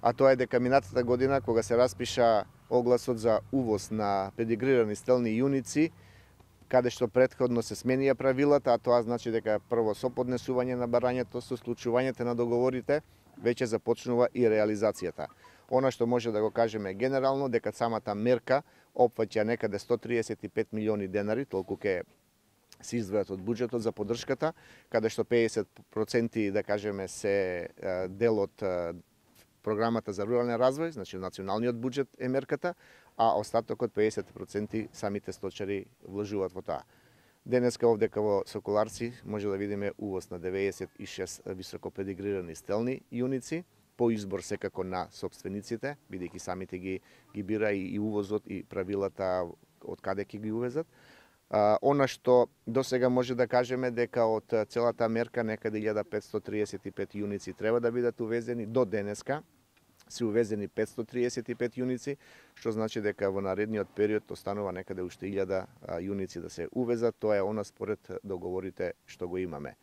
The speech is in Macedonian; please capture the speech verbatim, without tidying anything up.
а тоа е дека минатата година кога се распиша огласот за увоз на педигрирани стелни јуници, каде што претходно се сменија правилата, а тоа значи дека прво со поднесување на барањето, со склучувањето на договорите, веќе започнува и реализацијата. Она што може да го кажеме генерално, дека самата мерка опфаќа некаде сто триесет и пет милиони денари, толку ке се издвојат од буџетот за поддршката, каде што педесет проценти, да кажеме, се дел од програмата за рурален развој, значи националниот буџет е мерката, а остатокот педесет проценти самите сточари вложуваат во тоа. Денеска овде во Соколарци може да видиме увоз на деветдесет и шест високо педигрирани стелни јуници, по избор секако на собствениците, бидејќи самите ги ги бира и, и увозот и правилата од каде ќе ги увезат. А, она што до сега може да кажеме дека од целата мерка некаде илјада петстотини триесет и пет јуници треба да бидат увезени, до денеска се увезени петстотини триесет и пет јуници, што значи дека во наредниот период останува некаде уште илјада јуници да се увезат, тоа е она според договорите што го имаме.